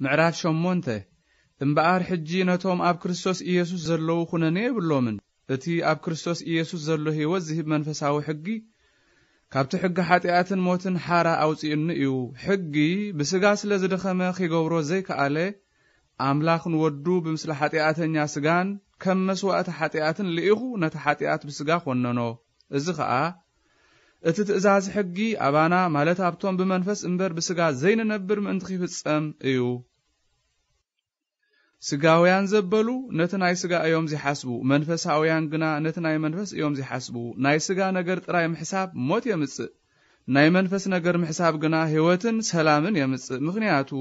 ምዕራፍ ሸሞንተ። እምበኣር ሕጂ ነቶም ኣብ ክርስቶስ ኢየሱስ ዘለዉ ኹነኔ የብሎምን። እቲ ኣብ ክርስቶስ ኢየሱስ ዘሎ ህይወት ዝህብ መንፈሳዊ ሕጊ፣ ካብቲ ሕጊ ሓጢኣትን ሞትን ሓራ ኣውጺኡኒ እዩ። ሕጊ ብስጋ ስለ ዝደኸመ ኺገብሮ ዘይከኣለ፣ ኣምላኽ ንወዱ ብምስሊ ሓጢኣተኛ ስጋን ከም መስዋእቲ ሓጢኣትን ልኢኹ ነቲ ሓጢኣት ብስጋ ኾነኖ። እዚ ኸኣ እቲ ትእዛዝ ሕጊ ኣባና፣ ማለት ኣብቶም ብመንፈስ እምበር ብስጋ ዘይንነብር ምእንቲ ኺፍጸም እዩ። ስጋውያን ዘበሉ ነቲ ናይ ስጋ እዮም ዚሓስቡ፣ መንፈሳውያን ግና ነቲ ናይ መንፈስ እዮም ዚሓስቡ። ናይ ስጋ ነገር ጥራይ ምሕሳብ ሞት የምጽእ፣ ናይ መንፈስ ነገር ምሕሳብ ግና ህይወትን ሰላምን የምጽእ። ምኽንያቱ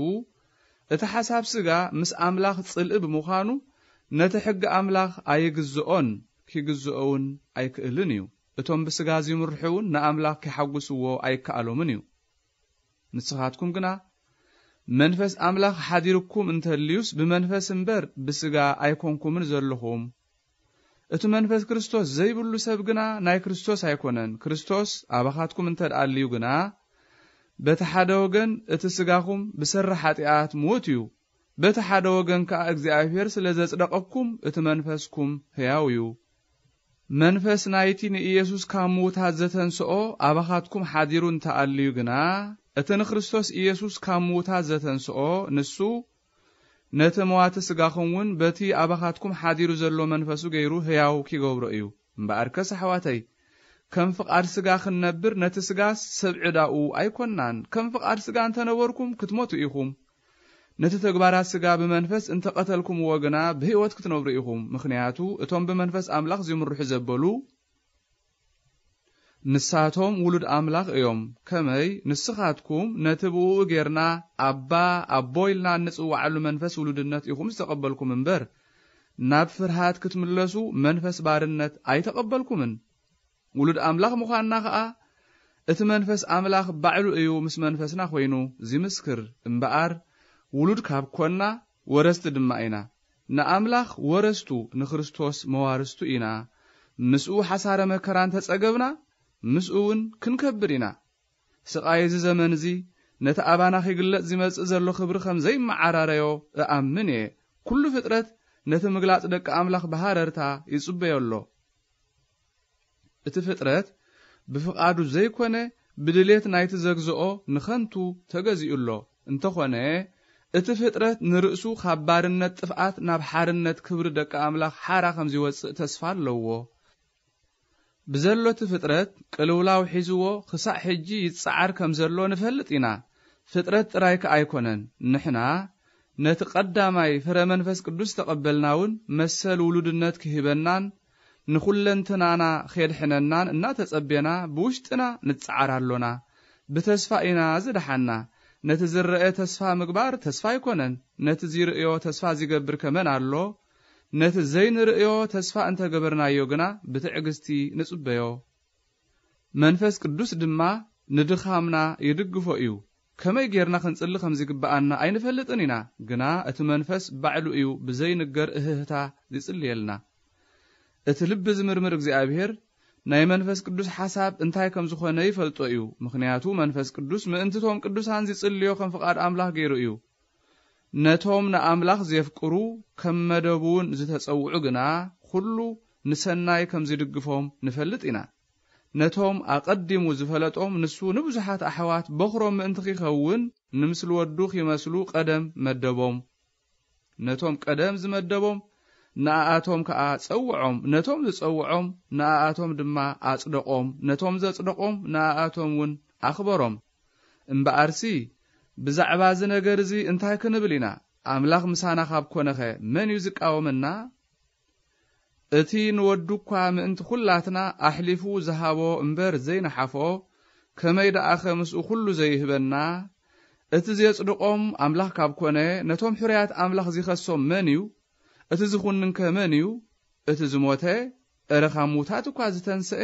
እቲ ሓሳብ ስጋ ምስ ኣምላኽ ጽልኢ ብምዃኑ፣ ነቲ ሕጊ ኣምላኽ ኣይግዝኦን፣ ኪግዝኦ እውን ኣይክእልን እዩ። እቶም ብስጋ ዚምርሑ እውን ንኣምላኽ ኪሓጉስዎ ኣይከኣሎምን እዩ። ንስኻትኩም ግና መንፈስ ኣምላኽ ሓዲርኩም እንተልዩስ፣ ብመንፈስ እምበር ብስጋ ኣይኮንኩምን ዘለኹም። እቲ መንፈስ ክርስቶስ ዘይብሉ ሰብ ግና ናይ ክርስቶስ ኣይኮነን። ክርስቶስ ኣባኻትኩም እንተ ደኣ ኣልዩ ግና፣ በቲ ሓደ ወገን እቲ ስጋኹም ብሰሪ ሓጢኣት ምዉት እዩ፣ በቲ ሓደ ወገን ከኣ እግዚኣብሔር ስለ ዘጽደቐኩም እቲ መንፈስኩም ሕያው እዩ። መንፈስ ናይቲ ንኢየሱስ ካብ ምዉታት ዘተንስኦ ኣባኻትኩም ሓዲሩ እንተ ኣልዩ ግና፣ እቲ ንክርስቶስ ኢየሱስ ካብ ምዉታት ዘተንስኦ ንሱ ነቲ መዋቲ ስጋኹም እውን በቲ ኣባኻትኩም ሓዲሩ ዘሎ መንፈሱ ገይሩ ሕያው ኪገብሮ እዩ። እምበኣርከስ ኣሕዋተይ፣ ከም ፍቓድ ስጋ ክንነብር ነቲ ስጋስ ሰብ ዕዳኡ ኣይኮንናን። ከም ፍቓድ ስጋ እንተ ነበርኩም ክትሞቱ ኢኹም። ነቲ ተግባራት ስጋ ብመንፈስ እንተ ቐተልኩምዎ ግና ብህይወት ክትነብሩ ኢኹም። ምኽንያቱ እቶም ብመንፈስ ኣምላኽ ዚምርሑ ዘበሉ ንሳቶም ውሉድ ኣምላኽ እዮም። ከመይ ንስኻትኩም ነቲ ብእኡ ጌርና ኣባ፣ ኣቦ ኢልና እንጽውዓሉ መንፈስ ውሉድነት ኢኹም ዝተቐበልኩም እምበር፣ ናብ ፍርሃት ክትምለሱ መንፈስ ባርነት ኣይተቐበልኩምን። ውሉድ ኣምላኽ ምዃንና ኸኣ እቲ መንፈስ ኣምላኽ ባዕሉ እዩ ምስ መንፈስና ኾይኑ ዚምስክር። እምበኣር ውሉድ ካብ ኮንና ወረስቲ ድማ ኢና። ንኣምላኽ ወረስቱ፣ ንክርስቶስ መዋርስቱ ኢና። ምስኡ ሓሳረ መከራ እንተ ጸገብና፣ ምስኡ እውን ክንከብር ኢና። ስቓይ እዚ ዘመን እዚ ነቲ ኣባና ኺግለጽ ዚመጽእ ዘሎ ኽብሪ ኸም ዘይመዓራረዮ እኣምን እየ። ኩሉ ፍጥረት ነቲ ምግላጽ ደቂ ኣምላኽ ብሃረርታ ይጽበዮ ኣሎ። እቲ ፍጥረት ብፍቓዱ ዘይኮነ ብድሌት ናይቲ ዘግዝኦ ንኸንቱ ተገዚኡ ኣሎ። እንተኾነ እቲ ፍጥረት ንርእሱ ኻብ ባርነት ጥፍኣት ናብ ሓርነት ክብሪ ደቂ ኣምላኽ ሓራ ከም ዚወጽእ ተስፋ ኣለዎ። ብዘሎ እቲ ፍጥረት ቅልውላው ሒዝዎ ኽሳዕ ሕጂ ይጸዓር ከም ዘሎ ንፈልጥ ኢና። ፍጥረት ጥራይ ከኣ ኣይኮነን። ንሕና ነቲ ቐዳማይ ፍረ መንፈስ ቅዱስ ተቐበልና እውን መሰል ውሉድነት ክህበናን ንኹለንትናና ኼድሕነናን እናተጸቤና ብውሽጥና ንጸዓር ኣሎና። ብተስፋ ኢና ዝደሓና። ነቲ ዝረአ ተስፋ ምግባር ተስፋ ኣይኮነን። ነቲ ዚርእዮ ተስፋ ዚገብር ከመን ኣሎ? ነቲ ዘይንርእዮ ተስፋ እንተ ገበርናዮ ግና ብትዕግስቲ ንጽበዮ። መንፈስ ቅዱስ ድማ ንድኻምና ይድግፎ እዩ። ከመይ ጌርና ክንጽሊ ከም ዚግብኣና ኣይንፈልጥን ኢና፣ ግና እቲ መንፈስ ባዕሉ እዩ ብዘይንገር እህህታ ዚጽልየልና። እቲ ልቢ ዝምርምር እግዚኣብሔር ናይ መንፈስ ቅዱስ ሓሳብ እንታይ ከም ዝኾነ ይፈልጦ እዩ፣ ምኽንያቱ መንፈስ ቅዱስ ምእንቲ እቶም ቅዱሳን ዚጽልዮ ከም ፍቓድ ኣምላኽ ገይሩ እዩ። ነቶም ንኣምላኽ ዜፍቅሩ ከም መደቡ እውን ዝተጸውዑ ግና ኩሉ ንሰናይ ከም ዚድግፎም ንፈልጥ ኢና። ነቶም ኣቐዲሙ ዝፈለጦም ንሱ ንብዙሓት ኣሕዋት በኹሮም ምእንቲ ኺኸውን ንምስሊ ወዱ ኺመስሉ ቀደም መደቦም። ነቶም ቀደም ዝመደቦም ንኣኣቶም ከኣ ጸውዖም፣ ነቶም ዝጸውዖም ንኣኣቶም ድማ ኣጽደቖም፣ ነቶም ዘጽደቖም ንኣኣቶም እውን ኣኽበሮም። እምበኣርሲ ብዛዕባ እዚ ነገር እዚ እንታይ ክንብል ኢና? ኣምላኽ ምሳና ካብ ኮነኸ መን እዩ ዝቃወመና? እቲ ንወዱ እኳ ምእንቲ ኹላትና ኣሕሊፉ ዝሃቦ እምበር ዘይነሓፎ፣ ከመይ ደኣኸ ምስኡ ኹሉ ዘይህበና? እቲ ዜጽድቖም ኣምላኽ ካብ ኮነ፣ ነቶም ሕሩያት ኣምላኽ ዚኸሶም መን እዩ? እቲ ዝኹንንከ መን እዩ? እቲ ዝሞተ፣ እረ ካብ ምዉታት እኳ ዝተንስአ፣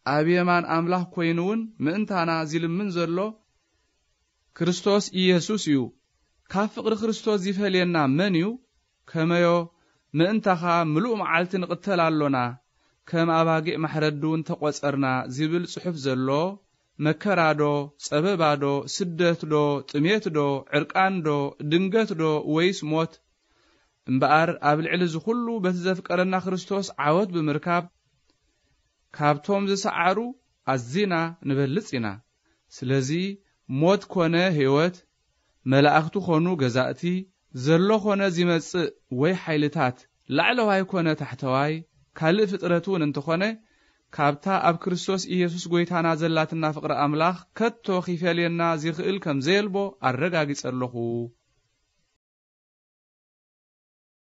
ኣብ የማን ኣምላኽ ኮይኑ እውን ምእንታና ዚልምን ዘሎ ክርስቶስ ኢየሱስ እዩ። ካብ ፍቕሪ ክርስቶስ ዚፈልየና መን እዩ? ከመዮ ምእንታኻ ምሉእ መዓልቲ ንቕተል ኣሎና፣ ከም ኣባጊዕ ማሕረዲ እውን ተቖጸርና ዚብል ጽሑፍ ዘሎ፣ መከራዶ፣ ጸበባዶ፣ ስደትዶ፣ ጥሜትዶ፣ ዕርቃንዶ፣ ድንገትዶ፣ ወይስ ሞት? እምበኣር ኣብ ልዕሊ እዚ ኹሉ በቲ ዘፍቀረና ክርስቶስ ዓወት ብምርካብ፣ ካብቶም ዝሰዓሩ ኣዚና ንበልጽ ኢና። ስለዚ ሞት ኮነ ህይወት፣ መላእኽቱ ኾኑ ገዛእቲ፣ ዘሎ ኾነ ዚመጽእ ወይ ሓይልታት፣ ላዕለዋይ ኮነ ታሕተዋይ፣ ካልእ ፍጥረት እውን እንተኾነ፣ ካብታ ኣብ ክርስቶስ ኢየሱስ ጐይታና ዘላትና ፍቕሪ ኣምላኽ ከቶ ኺፈልየና ዚኽእል ከም ዘየልቦ ኣረጋጊጸ ኣለኹ።